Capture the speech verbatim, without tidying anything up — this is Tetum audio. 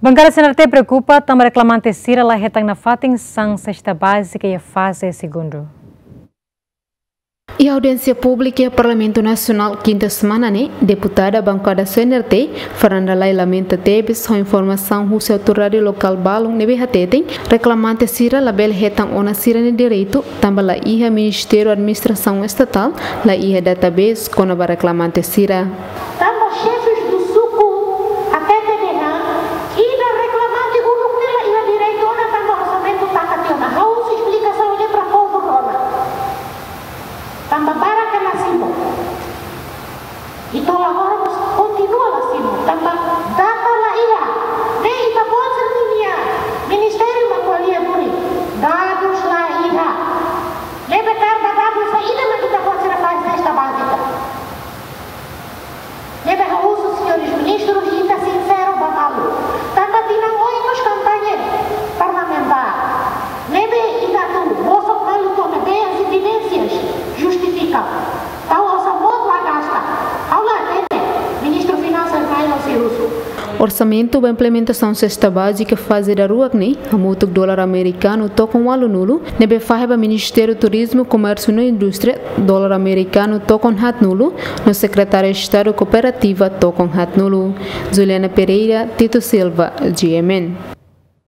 Bankada C N R T preokupa tanba reklamante sira la hetan nafatin san sesta bázika iha faze segundu. Iha audiénsia públika iha Parlamentu Nasionál kinta semana ne'e, deputada bankada C N R T, Fernanda Lay, lamenta tebes ho informasaun husi autoridade lokál balun ne'ebé hateten reklamante sira labele hetan ona sira-nia direitu tanba la iha Ministériu Administrasaun Estatál, la iha database kona-ba reklamante sira. Tanba xefes do suku hatete dehan ida reklamante uluk ne'e la iha direitu ona tanba orsamentu taka tiha ona. Ha'u husu esplikasaun ne'e para povu rona. Tanba barak la simu. I to'o agora mós kontinua la simu. Tanba data la iha. Ne'e ita-boot sira-nia ministériu mak ko'alia duni. Dadus la iha. Ne'ebé tanba dadus la iha mak ita-boot sira fahe sesta bázika. Ne'ebé ha'u husu señores ministrus, ita sinseru ba malu. Tanba tinan oin mós kampaña parlamentár. Ne'ebé ita atu bosok malu to'o ne'ebé as evidénsias justifika. Tau osan boot la gasta. Ha'u la hatene, Ministru Finansas mai no se husu. Orsamentu ba implementasaun sesta bázika faze daruak ne'e, hamutuk dolar amerikanu tokon ualunulu, ne'ebé fahe ba Ministériu Turizmu, Komérsiu no Indústria, dolar amerikanu tokon haatnulu, no Sekretáriu Estadu Kooperativa tokon haatnulu. Juliana Pereira, Tito Silva, G M N.